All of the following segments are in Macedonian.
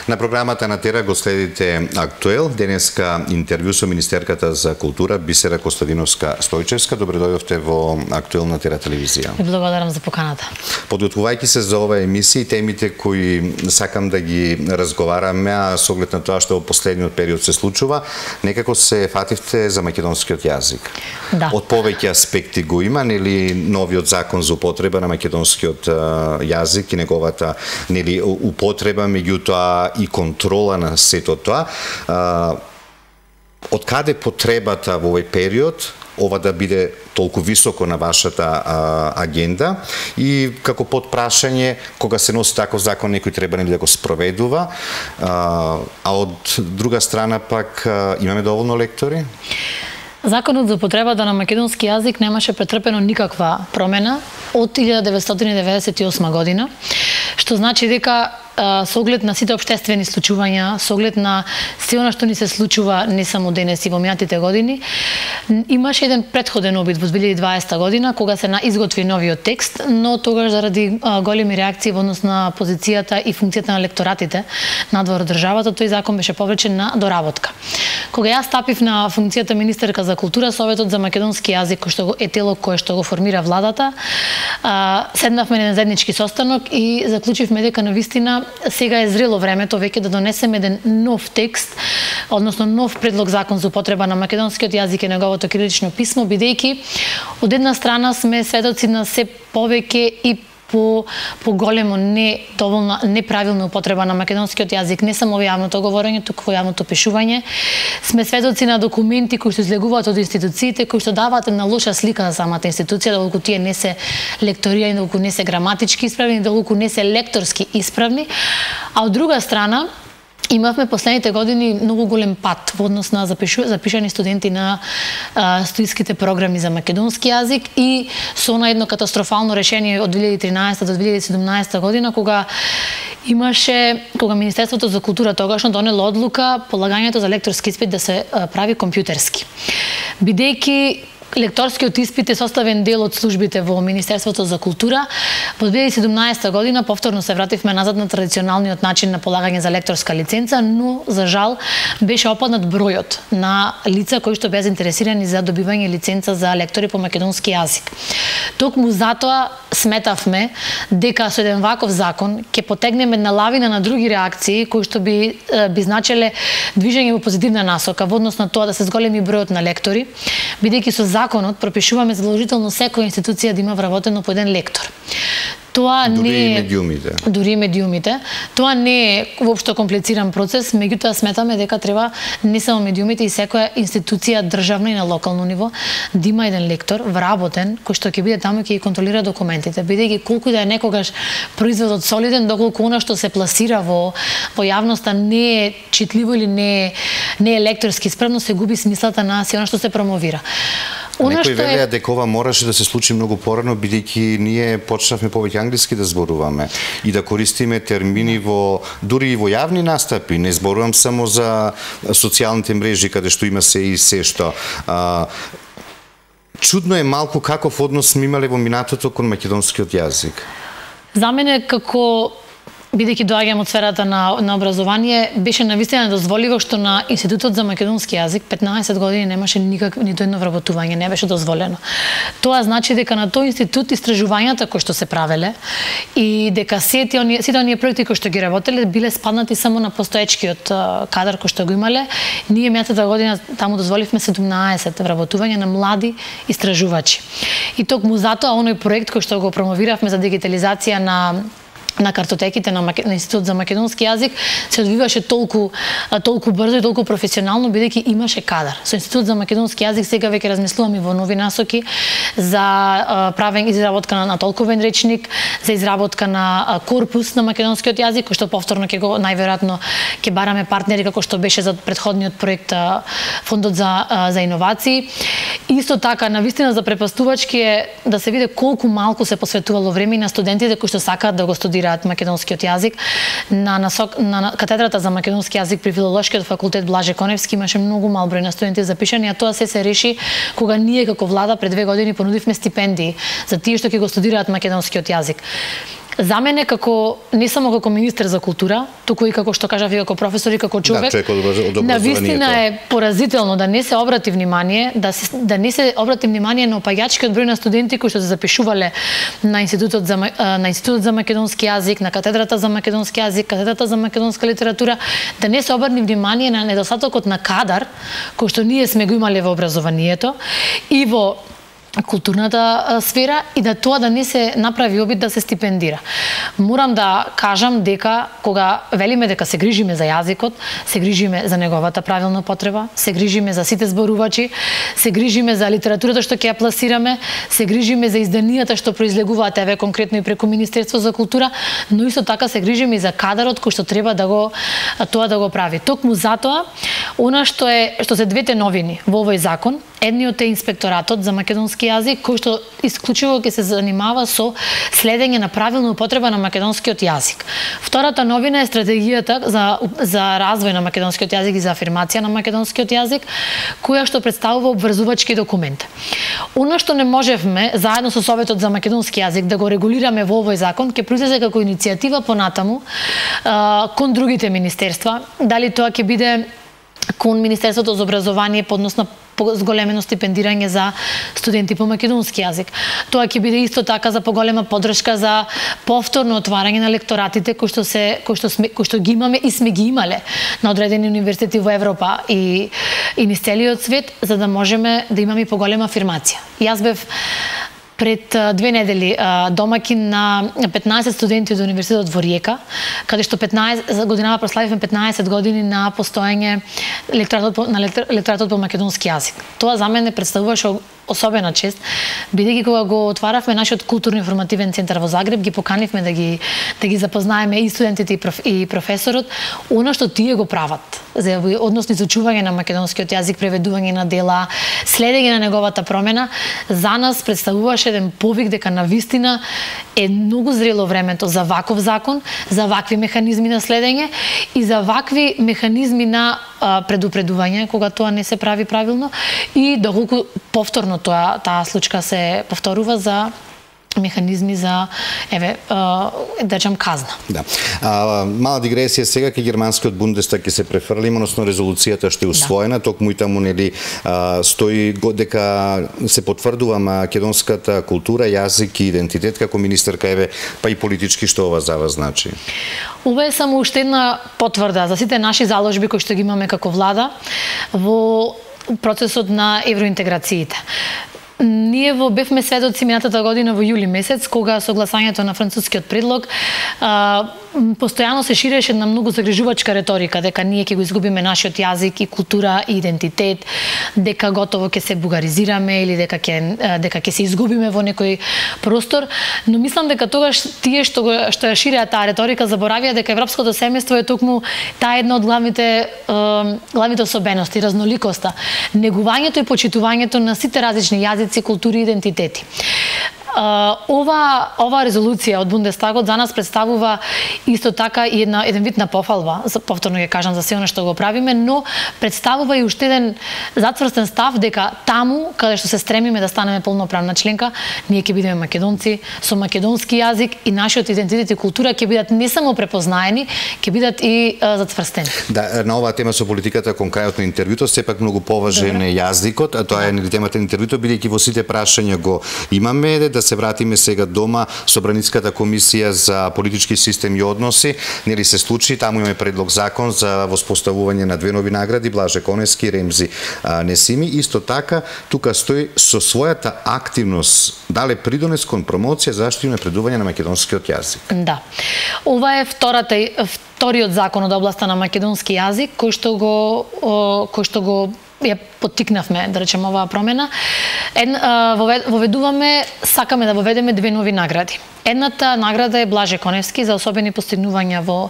На програмата на Тера го следите Актуел. Денеска интервју со министерката за култура Бисера Костадиновска-Стојчевска. Добре дојдовте во Актуел на Тера телевизија. Ви благодарам за поканата. Подготвувајќи се за ова емисија и темите кои сакам да ги разговараме, а со оглед на тоа што во последниот период се случува, некако се фативте за македонскиот јазик. Да. Од повеќе аспекти го има, нели, новиот закон за употреба на македонскиот јазик и неговата, нели, употреба, меѓутоа и контрола на сето тоа. Од каде потребата во овој период ова да биде толку високо на вашата агенда и како подпрашање, кога се носи таков закон, некој треба нели да го спроведува, а од друга страна пак имаме доволно лектори? Законот за употребата на македонски јазик немаше претрпено никаква промена од 1998 година, што значи дека со оглед на сите општествени случувања, со оглед на се она што ни се случува не само денес и во минатите години, имаше еден претходен обид во 2020 година кога се изготви новиот текст, но тогаш заради големи реакции во однос на позицијата и функцијата на лекторатите надвор од државата, тој закон беше повречен на доработка. Кога јас стапив на функцијата министерка за култура, Советот за македонски јазик, кој што е тело кое што го формира владата, седнавме на заеднички состанок и заклучивме дека навистина сега е зрело времето веќе да донесеме еден нов текст, односно нов предлог закон за употреба на македонскиот јазик и неговото кирилично писмо, бидејќи од една страна сме сведоци на се повеќе и по големо доволно неправилна употреба на македонскиот јазик, не само во јавното говорење, туку во јавното пишување. Сме сведоци на документи кои што излегуваат од институциите, кои што даваат на лоша слика за самата институција, доколку тие не се лекторирани, доколку не се граматички исправни, доколку не се лекторски исправни, а од друга страна имавме последните години многу голем пат во однос на запишани студенти на студиските програми за македонски јазик и со на едно катастрофално решение од 2013 до 2017 година кога Министерството за култура тогашно донело одлука полагањето за лекторски испит да се прави компјутерски. Бидејќи лекторскиот испит е составен дел од службите во Министерството за култура. Во 2017 година повторно се вративме назад на традиционалниот начин на полагање за лекторска лиценца, но за жал беше опаднат бројот на лица кои што беа заинтересирани за добивање лиценца за лектори по македонски јазик. Токму затоа сметавме дека со еден ваков закон ќе потегнеме една лавина на други реакции кои што би значеле движење во позитивна насока во однос на тоа да се зголеми бројот на лектори, бидејќи со законот пропишуваме задолжително секоја институција да има вработено по еден лектор. Тоа дури не и медиумите. Дури и медиумите. Тоа не е воопшто комплициран процес, меѓутоа сметаме дека треба не само медиумите и секоја институција државна и на локално ниво да има еден лектор вработен кој што ќе биде таму и ќе ги контролира документите, бидејќи колку да е некогаш производот солиден, доколку она што се пласира во јавноста не е читливо или не е лекторски исправно, се губи смислата на се она што се промовира. Некои велеа дека ова мораше да се случи многу порано, бидејќи ние почнавме повеќе англиски да зборуваме и да користиме термини дури и во јавни настапи. Не зборувам само за социјалните мрежи каде што има се и се што. Чудно е малку каков однос сме имале во минатото кон македонскиот јазик. За мене како бидејќи доаѓам од сферата на образование, беше навистина дозволиво што на Институтот за македонски јазик 15 години немаше нито едно вработување, не беше дозволено. Тоа значи дека на тој институт истражувањата кои што се правеле и дека сите оние проекти кои што ги работеле биле спаднати само на постоечкиот кадар кој што го имале. Ние минатата година таму дозволивме 17 вработувања на млади истражувачи. И токму затоа оној проект кој што го промовиравме за дигитализација на картотеките на Институт за македонски јазик се одвиваше толку брзо и толку професионално, бидејќи имаше кадар. Со Институт за македонски јазик сега веќе размислуваме во нови насоки за правење изработка на толковен речник, за изработка на корпус на македонскиот јазик, кој што повторно најверојатно ќе бараме партнери како што беше за претходниот проект Фондот за иновации. Исто така, навистина за препастувачки е да се види колку малку се посветувало време на студентите кои што сакаат да го студираат македонскиот јазик. На катедрата за македонски јазик при Филолошкиот факултет Блаже Коневски имаше многу мал број на студенти запишани, а тоа се реши кога ние како влада пред 2 години понудивме стипендии за тие што ќе го студираат македонскиот јазик. За мене како не само како министер за култура, туку и како што кажав и како професор и како човек, навистина е поразително да не се обрати внимание, да не се обрати внимание на опаѓачкиот број на студенти кои што се запишувале на Институтот за македонски јазик, на катедрата за македонски јазик, катедрата за македонска литература, да не се обрати внимание на недостатокот на кадар кој што ние сме го имале во образованието и во културната сфера и да тоа да не се направи обид да се стипендира. Морам да кажам дека кога велиме дека се грижиме за јазикот, се грижиме за неговата правилна употреба, се грижиме за сите зборувачи, се грижиме за литературата што ќе ја пласираме, се грижиме за изданијата што произлегуваат еве конкретно и преку Министерство за култура, но исто така се грижиме и за кадарот кој што треба да го прави. Токму затоа, она што се двете новини во овој закон, едниот е инспекторатот за македонски јазик, кој што исклучиво ќе се занимава со следење на правилна употреба на македонскиот јазик. Втората новина е стратегијата за развој на македонскиот јазик и за афирмација на македонскиот јазик, која што представува обврзувачки документ. Она што не можевме заедно со Советот за македонски јазик да го регулираме во овој закон, ќе произлезе како иницијатива понатаму кон другите министерства, дали тоа ќе биде кон Министерството за образование, подносно зголемено стипендирање за студенти по македонски јазик. Тоа ќе биде исто така за поголема поддршка за повторно отварање на лекторатите кои што ги имаме и сме ги имале на одредени универзитети во Европа и низ целиот свет, за да можеме да имаме и поголема афирмација. Јас бев пред 2 недели домакин на 15 студенти од Универзитетот во Риека, каде што 15 годинава прославивме 15 години на постоење лекторатот по македонски јазик. Тоа за мене представуваше особена чест, бидејќи кога го отваравме нашиот културно-информативен центар во Загреб, ги поканивме да ги запознаеме и студентите и професорот, она што тие го прават, односно изучување на македонскиот јазик, преведување на дела, следење на неговата промена, за нас представуваше еден повик дека навистина е многу зрело времето за ваков закон, за вакви механизми на следење и за вакви механизми на предупредување кога тоа не се прави правилно и доколку повторно таа случка се повторува за механизми за да речам казна. Да. Мала дигресија сега ке германскиот Бундестаг ќе се префрли, односно резолуцијата што е усвоена, токму и таму нели стои дека се потврдува македонската култура, јазик и идентитет како министерка еве, па и политички што ова за вас значи? Ова е само уште една потврда за сите наши заложби кои што ги имаме како влада во процесот на евроинтеграциите. Ние бевме сведоци минатата година во јули месец, кога со гласањето на францускиот предлог постојано се ширеше една многу загрижувачка реторика дека ние ќе го изгубиме нашиот јазик и култура и идентитет, дека готово ќе се бугаризираме или дека ќе се изгубиме во некој простор, но мислам дека тогаш тие што ја ширеа таа реторика заборавија дека европското семејство е токму таа една од главните особености, разноликоста, негувањето и почитувањето на сите различни јазици, култури и идентитети. Ова резолуција од Бундестагот за нас представува исто така и еден вид на пофалба, повторно ќе кажам за се она што го правиме, но представува и уште еден затврстен став дека таму каде што се стремиме да станеме полноправна членка, ние ќе бидеме македонци со македонски јазик и нашиот идентитет и култура ќе бидат не само препознаени, ќе бидат и затврстени. Да, на оваа тема со политиката кон крајот на интервјуто сепак многу поважен е јазикот, а тоа е темата на интервјуто, бидејќи во сите прашања го имаме, да се вратиме сега дома со Браниската комисија за политички систем и односи, нели се случи, таму имаме предлог закон за воспоставување на 2 нови награди, Блаже Коневски и Ремзи Несими. Исто така, тука стои со својата активност дале придонес кон промоција заштита и напредување на македонскиот јазик. Да. Ова е вториот закон од областа на македонски јазик кој што го ја поттикнавме, да речем, оваа промена. Сакаме да воведеме 2 нови награди. Едната награда е Блаже Коневски за особени постигнувања во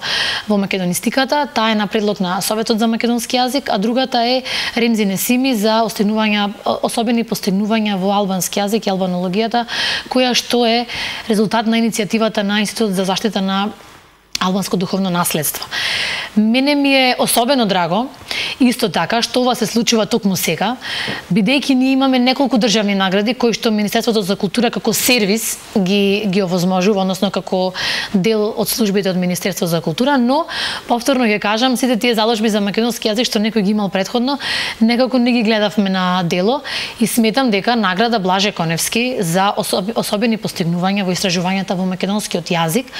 македонистиката, таа е на предлог на Советот за македонски јазик, а другата е Ремзи Несими за особени постигнувања во албански јазик и албанологијата, која што е резултат на иницијативата на Институтот за заштита на албанско духовно наследство. Мене ми е особено драго, исто така, што ова се случува токму сега, бидејќи ние имаме неколку државни награди кои што Министерството за култура како сервис ги овозможува, односно како дел од службите од Министерството за култура, но повторно ќе кажам, сите тие заложби за македонски јазик што некој ги имал претходно, некако не ги гледавме на дело и сметам дека награда Блаже Коневски за особени постигнувања во истражувањата во македонскиот јазик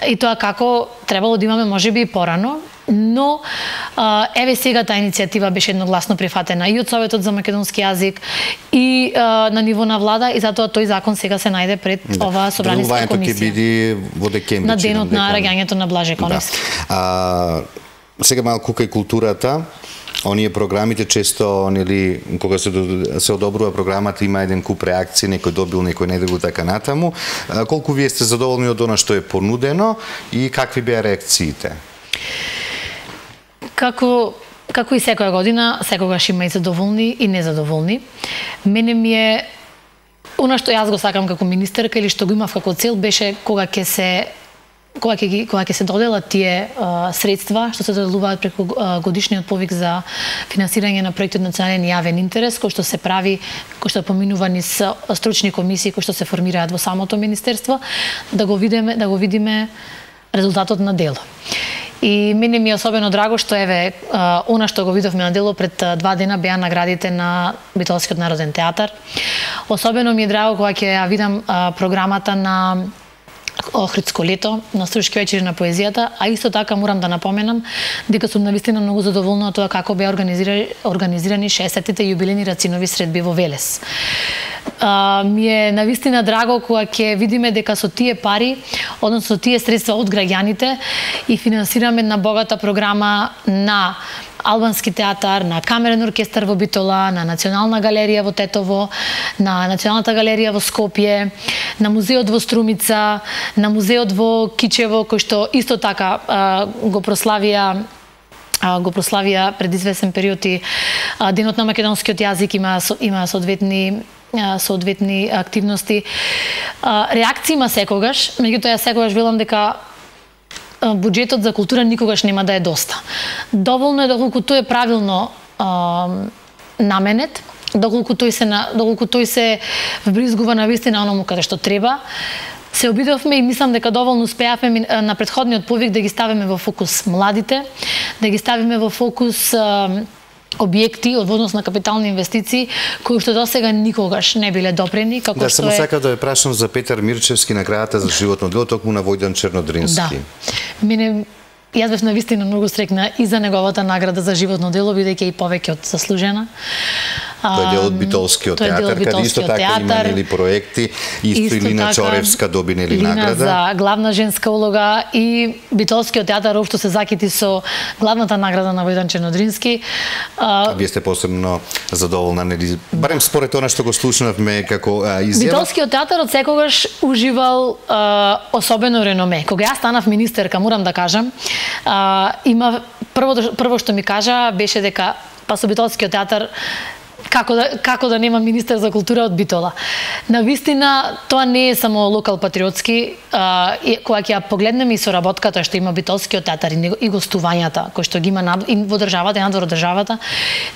и тоа како требало да имаме можеби и порано, но еве сега таа иницијатива беше едногласно прифатена и од Советот за македонски јазик и на ниво на влада и затоа тој закон сега се најде пред оваа собраниска комисија. Ќе биде во декември на денот на раѓањето на Блаже Коневски. Сега малку кај културата. Оние програмите често, нели, кога се одобрува програмата, има еден куп реакции, некој добил, некој не добил, така натаму. Колку вие сте задоволни од она што е понудено и какви беа реакциите? Како и секоја година, секогаш има и задоволни и незадоволни. Мене ми е она што јас го сакам како министерка или што го имав како цел беше кога ќе се доделат тие средства што се доделуваат преку годишниот повик за финансирање на проекти од национален јавен интерес, кој што се прави, кој што поминува низ стручни комисии кои што се формираат во самото министерство, да го видиме резултатот на дело. И мене ми е особено драго што еве она што го видовме на дело пред 2 дена беа наградите на Битолскиот народен театар. Особено ми е драго кога ќе ја видам програмата на Охридско лето, на Струшки вечери на поезијата, а исто така морам да напоменам дека сум навистина многу задоволна од тоа како беа организирани 60-тите јубилејни рацинови средби во Велес. Ми е навистина драго кога ќе видиме дека со тие пари, односно со тие средства од граѓаните и финансираме една богата програма на албански театар, на камерен оркестар во Битола, на Национална галерија во Тетово, на Националната галерија во Скопје, на музеот во Струмица, на музеот во Кичево, кој што исто така го прославија пред известен период и Денот на македонскиот јазик, има соодветни активности. Реакции има секогаш, меѓутоа јас секогаш велам дека буџетот за култура никогаш нема да е доста. Доволно е доколку тој е правилно наменет, доколку тој се вбризгува на вистина оному каде што треба. Се обидовме и мислам дека доволно успеавме на претходниот повик да ги ставиме во фокус младите, да ги ставиме во фокус објекти од однос на капитални инвестиции кои што досега никогаш не биле допрени, како што само сакав да ве прашам за Петар Мирчевски, наградата за животно дело, токму на Војдан Чернодрински. Да. Јас бев навистина многу срекна и за неговата награда за животно дело, бидејќи е и повеќе од заслужена. Тој е дел од Битолскиот театар, каде исто така има нели проекти, исто Илина Чоревска доби нели награда за главна женска улога и Битолскиот театар општо се закити со главната награда на Војдан Чернодрински. Вие сте посебно задоволна нели, барем според она што го слушнавме како изјава. Битолскиот театар од секогаш уживал особено реноме. Кога јас станав министерка, морам да кажам, има прво што ми кажа беше дека со Битолскиот театар како да нема министер за култура од Битола. Навистина, тоа не е само локал патриотски, кога ќе ја погледнеме и соработката што има Битолскиот театар и гостувањата кои што ги има и во државата и надвор од државата,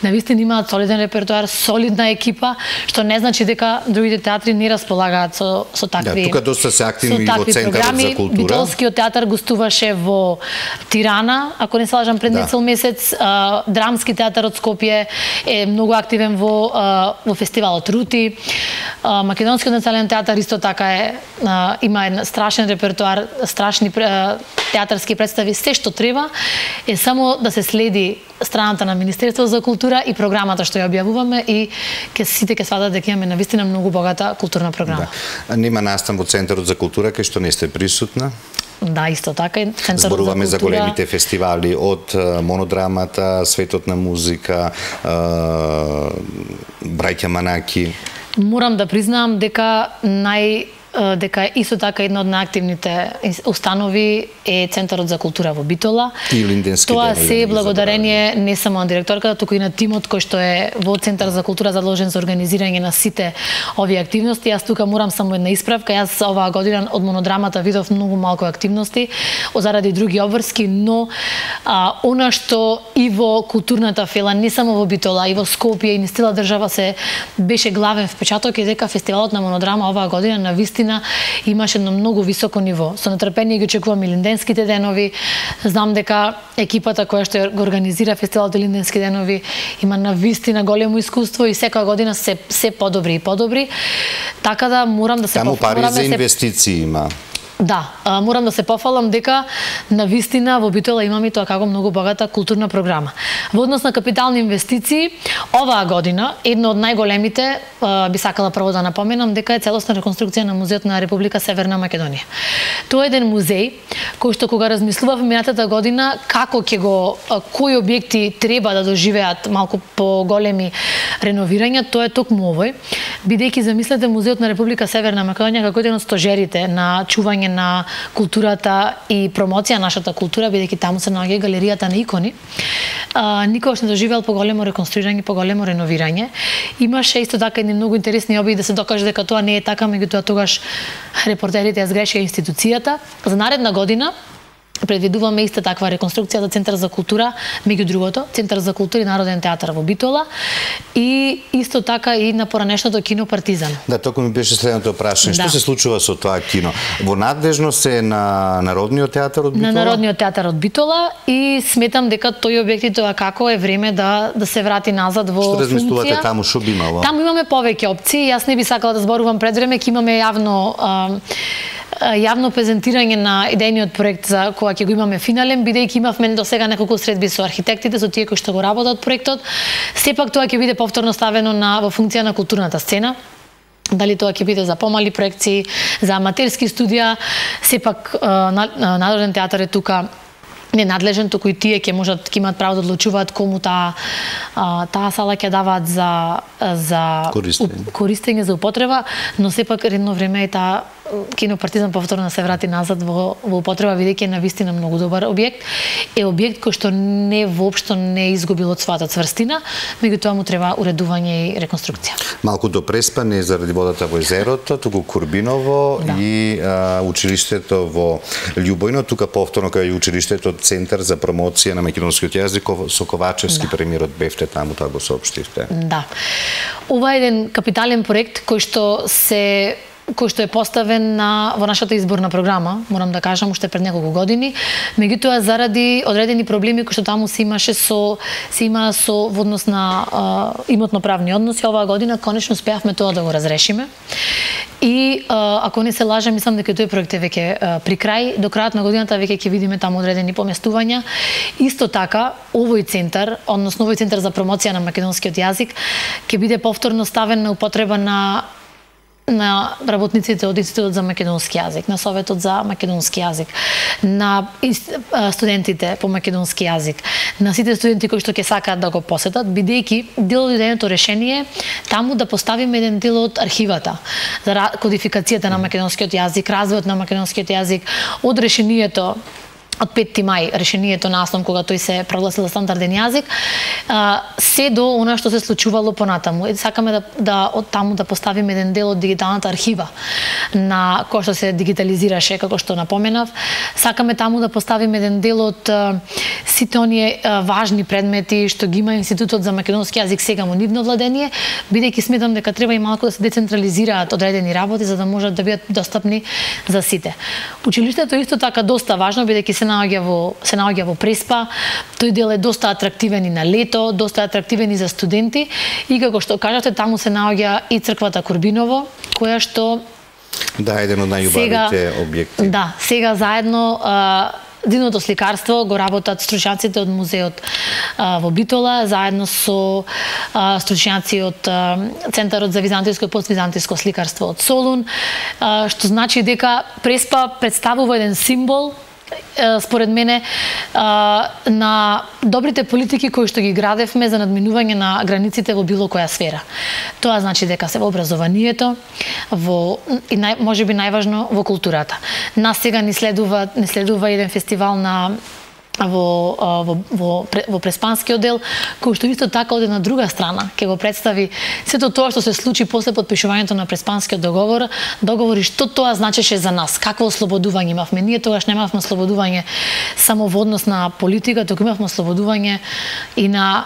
навистина имаат солиден репертоар, солидна екипа, што не значи дека другите театри не располагаат со такви. Да, тука доста се активни во Центарот за култура. Битолскиот театар гостуваше во Тирана, ако не се лажам, пред нецел месец. Драмски театар од Скопје е многу активен во фестивалот Рути. Македонскиот национален театар исто така има еден страшен репертоар, страшни театарски представи, се што треба е само да се следи страната на Министерството за култура и програмата што ја објавуваме и сите ќе сватат дека имаме навистина многу богата културна програма. Да. Нема настан во Центарот за култура кај што не сте присутна? Да, исто така и Центарот за култура. Зборуваме за големите фестивали од Монодрамата, Светот на музика, Браќа Манаки. Морам да признаам дека дека исто така една од најактивните установи е Центарот за култура во Битола. И Линденски Тоа денови, се е благодарение не само на директорката, туку и на тимот кој што е во Центар за култура задолжен за организирање на сите овие активности. Јас тука морам само една исправка. Јас оваа година од монодрамата видов многу малку активности заради други обврски, но она што и во културната фела, не само во Битола, и во Скопје и низ цела држава се беше главен впечаток е дека фестивалот на монодрама оваа година навистина имаше едно многу високо ниво. Со нетрпение ги очекувам и Линденските денови. Знам дека екипата која што го организира фестивалот Линденски денови има навистина големо искуство и секоја година се подобри и подобри. Така да морам да се Таму пари за инвестиции има. Да, морам да се пофалам дека навистина во Битола имаме тоа како многу богата културна програма. Во однос на капитални инвестиции, оваа година едно од најголемите, би сакала прво да напоменам дека е целосна реконструкција на музеот на Република Северна Македонија. Тоа е еден музеј кој што кога размислував минатата година како ќе го кои објекти треба да доживеат малку поголеми реновирања, тоа е токму овој, бидејќи замислете музеот на Република Северна Македонија како еден од стожерите на чување на културата и промоција на нашата култура, бидејќи таму се наоѓа галеријата на икони. Никогаш не доживеал поголемо реконструирање, поголемо реновирање. Имаше исто така едни многу интересни обиди да се докаже дека тоа не е така, меѓутоа тогаш репортерите ја сгрешија институцијата. За наредна година предвидуваме иста таква реконструкција за Центар за култура, меѓу другото, Центар за култура и Народен театар во Битола и исто така и на поранешното кино Партизан. Да, току ми беше следното прашање. Што се случува со тоа кино? Во надлежност е на Народниот театар од Битола? На Народниот театар од Битола и сметам дека тој објект тоа како е време да се врати назад во функција. Што размислувате таму, што би имало? Таму имаме повеќе опции. Јас не би сакала да зборувам пред време, ќе имаме јавно презентирање на идејниот проект за кога ќе го имаме финален, бидејќи имавме до сега неколку средби со архитектите, со тие кои што го работат проектот. Сепак тоа ќе биде повторно ставено во функција на културната сцена. Дали тоа ќе биде за помали проекции, за аматерски студија, сепак Народен театар е тука не надлежен, туку и тие ќе имаат право да одлучуваат кому таа сала ќе даваат за користење, за употреба, но сепак едно време е таа кино Партизан повторно се врати назад во употреба, бидејќи е навистина многу добар објект. Е објект кој што воопшто не изгубил од својата цврстина, меѓутоа му треба уредување и реконструкција. Малку до преспане заради водата во езерото, туку Курбиново и училиштето во Љубојно, тука повторно кај училиштето Центар за промоција на македонскиот јазик со Ковачевски премиерот бевте таму, тоа го соопштивте. Да. Ова е еден капитален проект кој што е поставен во нашата изборна програма, морам да кажам, уште пред неколку години. Меѓутоа, заради одредени проблеми кои што таму се има во однос на имотно-правни односи, оваа година конечно успеавме тоа да го разрешиме. И ако не се лажам, мислам дека тој проект е веќе при крај. До крајот на годината веќе ќе видиме таму одредени поместувања. Исто така, овој центар, односно овој центар за промоција на македонскиот јазик, ќе биде повторно ставен на употреба на работниците од Институтот за македонски јазик, на Советот за македонски јазик, на студентите по македонски јазик, на сите студенти кои што ќе сакаат да го посетат, бидејќи дел од идејното решение таму да поставиме еден дел од архивата за кодификацијата на македонскиот јазик, развојот на македонскиот јазик, од решението од 5 мај, решението на АСНОМ кога тој се прогласил за стандарден јазик, се до она што се случувало понатаму. Сакаме од таму да поставиме еден дел од дигиталната архива на која што се дигитализираше, како што напоменав. Сакаме таму да поставиме еден дел од сите оние важни предмети што ги има Институтот за македонски јазик сега во нивно владение, бидејќи сметам дека треба и малку да се децентрализираат одредени работи за да можат да бидат достапни за сите. Училиштето исто така доста важно, бидејќи се наоѓа во Преспа. Тој дел е доста атрактивен и на лето, доста атрактивен и за студенти и како што кажавте, таму се наоѓа и црквата Курбиново, која што еден од најубавите објекти. Да, сега заедно дивното сликарство го работат стручњаците од музеот во Битола, заедно со стручњаци од Центарот за византиско и поствизантиско сликарство од Солун, што значи дека Преспа представува еден символ според мене на добрите политики кои што ги градевме за надминување на границите во било која сфера. Тоа значи дека се во образованието, и можеби најважно во културата. Нас сега не следува еден фестивал во Преспанскиот дел, кој што исто така оде на друга страна, ќе го представи сето тоа што се случи после подпишувањето на Преспанскиот договор и што тоа значеше за нас, какво ослободување имавме. Ние тогаш немавме ослободување само во однос на политика, туку имавме ослободување и на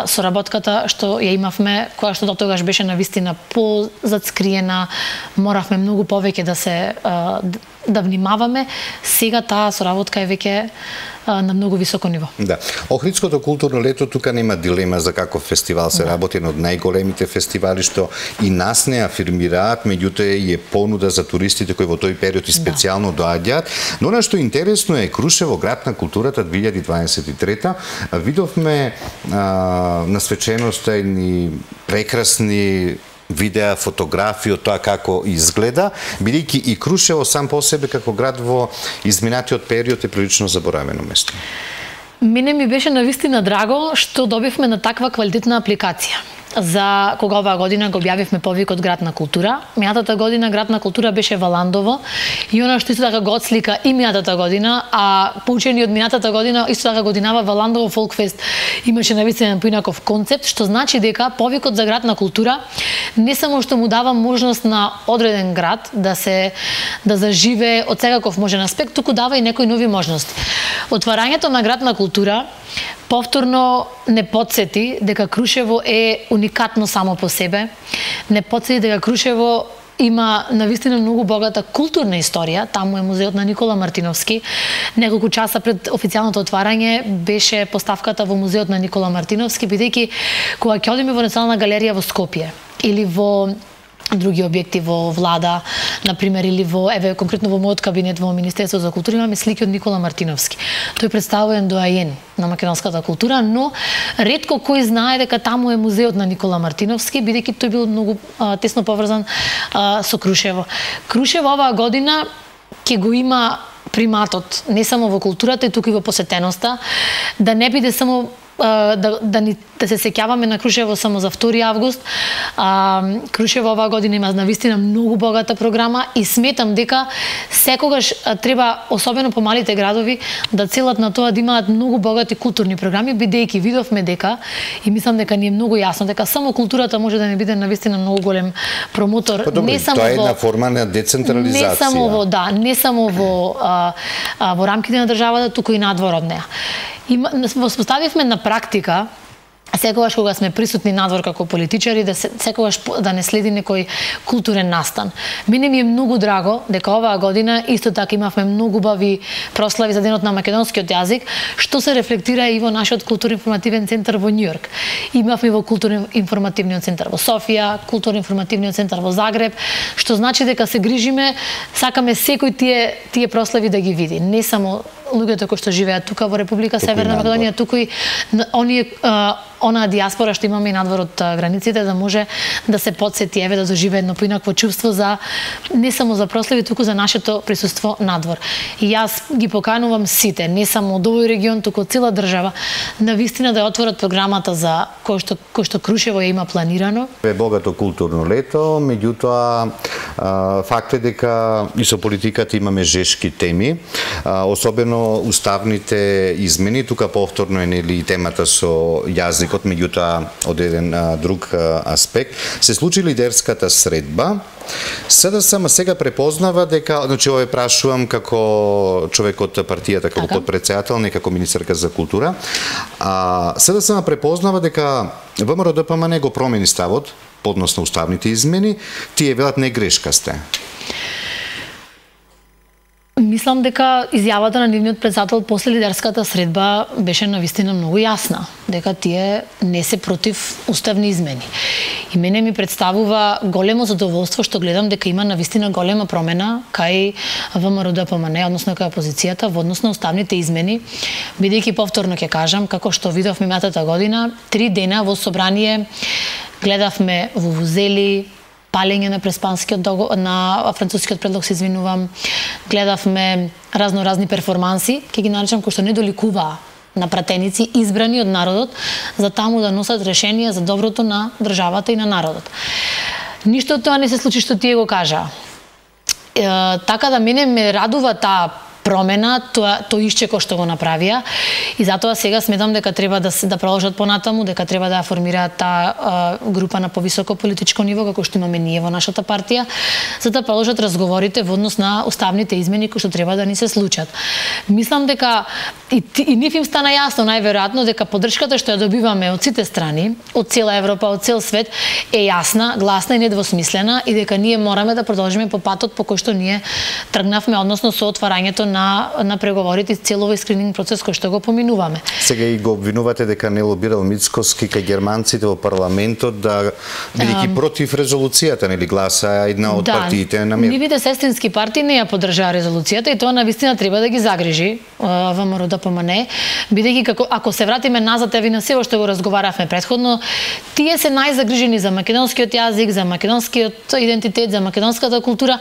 соработката што ја имавме, која што дотогаш беше навистина позацкриена, моравме многу повеќе да внимаваме. Сега таа соработка е веќе на многу високо ниво. Да. Охридското културно лето тука нема дилема за каков фестивал се работи, еден од најголемите фестивали што и нас не афирмираат, меѓутоа и е понуда за туристите кои во тој период и специјално доаѓаат. Но она што интересно е Крушево, град на културата 2023, видовме на свеченоста едни прекрасни видеа, фотографии од тоа како изгледа, бидејќи и Крушево сам по себе како град во изминатиот период е прилично заборавено место. Мене ми беше навистина драго што добивме на таква квалитетна апликација. За кога оваа година го објавивме повикот Град на култура. Минатата година Град на култура беше во Ландово и она што исто така го отслика и минатата година, а поучени од минатата година исто така годинава во Ландово Фолкфест имаше навистина поинаков концепт, што значи дека повикот за Град на култура не само што му дава можност на одреден град да заживее од секаков можен аспект, туку дава и некои нови можности. Отварањето на Град на култура повторно не потсети дека Крушево е уникатно само по себе, не потсети дека Крушево има навистина многу богата културна историја. Таму е музеот на Никола Мартиновски. Неколку часа пред официјалното отварање беше поставката во музеот на Никола Мартиновски, бидејќи кога ќе одиме во Национална галерија во Скопје или во други објекти во влада, например, или конкретно во мојот кабинет во Министерството за култура имаме слики од Никола Мартиновски. Тој представува еден доаен на македонската култура, но ретко кој знае дека таму е музеот на Никола Мартиновски, бидејќи тој бил многу тесно поврзан со Крушево. Крушево оваа година ќе го има приматот не само во културата, туку и во посетеноста, да не биде само да се сеќаваме на Крушево само за 2 август. Крушево оваа година има навистина многу богата програма и сметам дека секогаш треба, особено по малите градови, да целат на тоа да имаат многу богати културни програми, бидејќи видовме дека, и мислам дека ни е многу јасно, дека само културата може да не биде навистина многу голем промотор. Не само тоа е една форма на децентрализација. Не само во рамките на државата, туку и надвор од неа. Воспоставивме на практика, секогаш кога сме присутни надвор како политичари, секогаш да не следи некој културен настан. Мене ми е многу драго дека оваа година исто така имавме многу убави прослави за денот на македонскиот јазик, што се рефлектира и во нашиот културно-информативен центар во Њујорк. Имавме во културно-информативниот центар во Софија, културно-информативниот центар во Загреб, што значи дека се грижиме, сакаме секој тие прослави да ги види, не само луѓето кои што живеат тука во Република Северна Македонија, туку и онаа диаспора што имаме и надвор од границите, да може да се потсети, да доживее едно поинакво чувство за не само за прослави, туку за нашето присуство надвор. И јас ги поканувам сите, не само од овој регион, туку од цела држава, навистина да отворат програмата за кој што Крушево ја има планирано. Е богато културно лето, меѓутоа факт е дека и со политиката имаме жешки теми, особено уставните измени, тука повторно е нели темата со јазикот, меѓутоа од еден друг аспект. Се случи лидерската средба. СДСМ сега препознава дека, значи ова прашувам како човек од партијата, како подпредседател, не како министерка за култура. СДСМ препознава дека ВМРО ДПМН го промени ставот односно уставните измени, тие велат не грешка сте. Мислам дека изјавата на нивниот председател после лидерската средба беше навистина многу јасна, дека тие не се против уставни измени. И мене ми представува големо задоволство што гледам дека има навистина голема промена кај ВМРО ДПМН, односно кај опозицијата во однос на уставните измени, бидејќи повторно ќе кажам, како што видовме минатата година, 3 дена во собрание гледавме вувузели, палење на преспанскиот на францускиот предлог, се извинувам. Гледавме разни перформанси, ќе ги наречам, кои што не доликуваа на пратеници избрани од народот за таму да носат решенија за доброто на државата и на народот. Ништо од тоа не се случи што тие го кажаа. Така да мене ме радува таа промена, тој исчеко што го направија, и затоа сега сметам дека треба да продолжат понатаму, дека треба да формираат таа група на повисоко политичко ниво, како што имаме ние во нашата партија, за да продолжат разговорите во однос на уставните измени кои што треба да ни се случат. Мислам дека и нив им стана јасно најверојатно дека поддршката што ја добиваме од сите страни, од цела Европа, од цел свет, е јасна, гласна и недвосмислена, и дека ние мораме да продолжиме по патот по кој што ние тргнавме, односно со отварањето на преговорите и целово скрининг процес кој што го поминуваме. Сега и го обвинувате дека не лобирал Мицкоски кај германците во парламентот, да бидејќи против резолуцијата, нели, гласа една од партиите на мир. Нивите сестрински партии не ја поддржаа резолуцијата, и тоа навистина треба да ги загрижи ВМРО ДПМН, бидејќи ако се вратиме назад еви на сево што го разговаравме претходно, тие се најзагрижени за македонскиот јазик, за македонскиот идентитет, за македонската култура,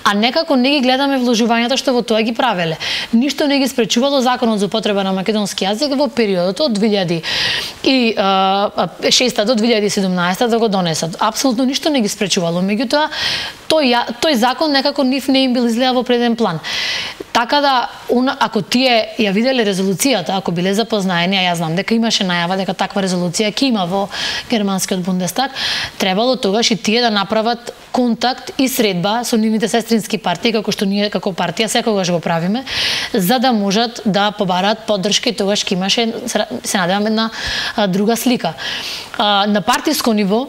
а некако не ги гледаме вложувањата што во тоа ги правеле. Ништо не ги спречувало законот за употреба на македонски јазик во периодот од 2006 до 2017 да го донесат. Апсолутно ништо не ги спречувало. Меѓутоа, тој закон некако нив не им бил изгледа во преден план. Така да, ако тие ја виделе резолуцијата, ако биле запознаени, а јас знам дека имаше најава дека таква резолуција ќе има во германскиот Бундестаг, требало тогаш и тие да направат контакт и средба со нивните сестрински партии, како што ние како партија секогаш го правиме, за да можат да побараат поддршка, и тогаш ќе имаше, се надевам, една друга слика. На партиско ниво,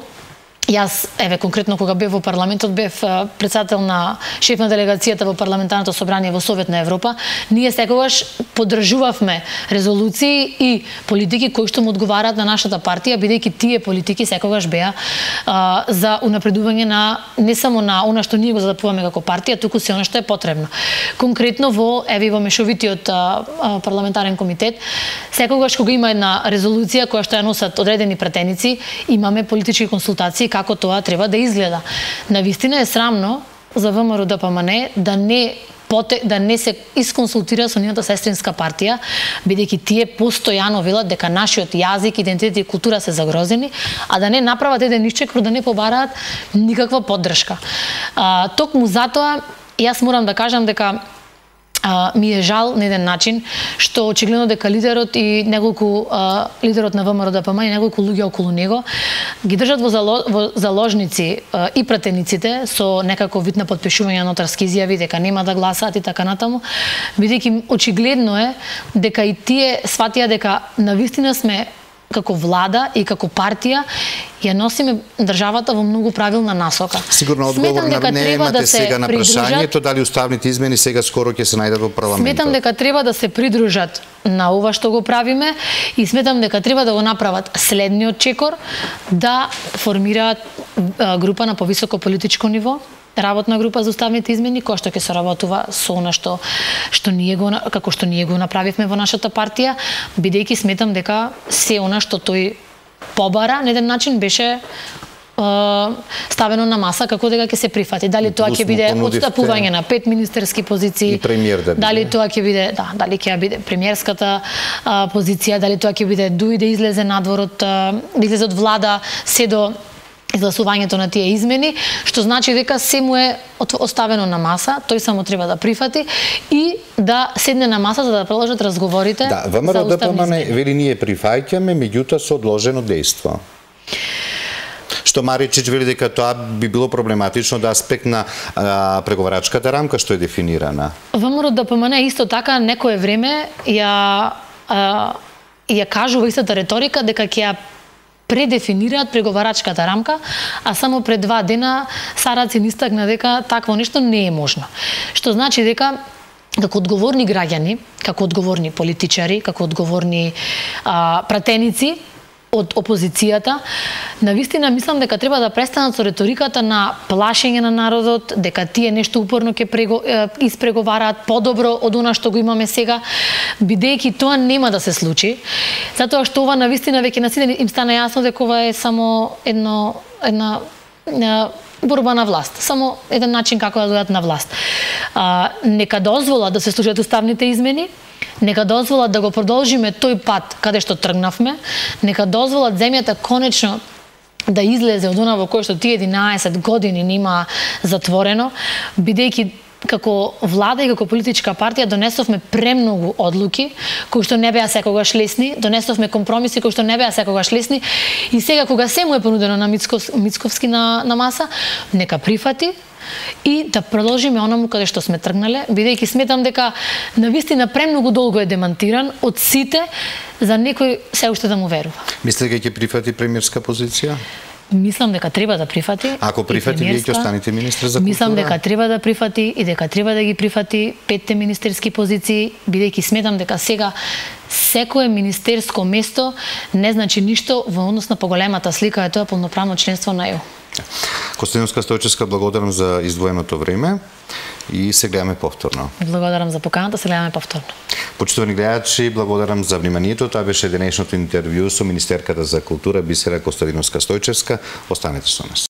јас, конкретно кога бев во парламентот, бев председател на шеф на делегацијата во парламентарното собрание во Совет на Европа, ние секогаш поддржувавме резолуции и политики кои што му одговараат на нашата партија, бидејќи тие политики секогаш беа за унапредување на не само на она што ние го задапуваме како партија, туку се она што е потребно. Конкретно во мешовитиот парламентарен комитет, секогаш кога има една резолуција која што ја носат одредени пратеници, имаме политички консултации како тоа треба да изгледа. Навистина е срамно за ВМРО ДПМН да не се исконсултира со нивната сестринска партија, бидејќи тие постојано велат дека нашиот јазик, идентитет и култура се загрозени, а да не направат еден исчекор, да не побараат никаква поддршка. Токму затоа, јас морам да кажам дека ми е жал на еден начин што очигледно дека лидерот и лидерот на ВМРО ДПМН и неколку луѓе околу него ги држат во заложници и пратениците со некако вид на потпишување на нотарски изјави дека нема да гласаат и така натаму, бидејќи очигледно е дека и тие сватија дека навистина сме како влада и како партија ја носиме државата во многу правилна насока. Сигурно одговор немате сега на прашањето дали уставните измени сега скоро ќе се најдат во парламентот. Сметам дека треба да се придружат на ова што го правиме, и сметам дека треба да го направат следниот чекор, да формираат група на повисоко политичко ниво, работна група за уставните измени, која што ќе соработува со она што ние го направивме во нашата партија, бидејќи сметам дека се она што тој побара на еден начин беше ставено на маса како дека ќе се прифати. Дали тоа ќе биде отстапување на 5 министерски позиции, дали тоа ќе биде, дали ќе биде премиерската позиција, дали тоа ќе биде да излезе надвор од влада се до изгласувањето на тие измени, што значи дека се му е оставено на маса, тој само треба да прифати и да седне на маса за да продолжат разговорите за уставни измени. ВМРО ДПМН вели ние прифаќаме, меѓутоа со одложено дејство. Што Маричич вели дека тоа би било проблематично од аспект на преговарачката рамка што е дефинирана. ВМРО ДПМН исто така некое време ја кажува истата реторика дека ќе ја предефинираат преговарачката рамка, а само пред 2 дена Сарацин истакна дека такво нешто не е можно. Што значи дека како одговорни граѓани, како одговорни политичари, како одговорни пратеници од опозицијата, навистина мислам дека треба да престанат со реториката на плашење на народот, дека тие нешто упорно ќе испреговараат подобро од она што го имаме сега, бидејќи тоа нема да се случи, затоа што ова навистина веќе на сите им стана јасно дека ова е само една борба на власт, само еден начин како да дојдат на власт. Нека дозволат да се случат уставните измени, нека дозволат да го продолжиме тој пат каде што тргнавме, нека дозволат земјата конечно да излезе од она во кој што тие 11 години нема затворено, бидејќи како влада и како политичка партија донесовме премногу одлуки кои што не беа секогаш лесни, донесовме компромиси кои што не беа секогаш лесни и сега кога се му е понудено на Мицковски на маса, нека прифати и да продолжиме онаму каде што сме тргнале, бидејќи сметам дека навистина премногу долго е демантиран од сите за некој се уште да му верува. Мислите дека ќе прифати премиерска позиција? Мислам дека треба да прифати. Ако прифати, вие ќе останете министер за култура? Мислам дека треба да прифати и дека треба да ги прифати 5 министерски позиции, бидејќи сметам дека сега секое министерско место не значи ништо во однос на поголемата слика, е тоа полноправно членство на ЕУ. Костадиновска Стојчевска, благодарам за издвоеното време и се гледаме повторно. Благодарам за поканата, се гледаме повторно. Почитувани гледачи, благодарам за вниманието. Тоа беше денешното интервју со министерката за култура Бисера Костадиновска Стојчевска. Останете со нас.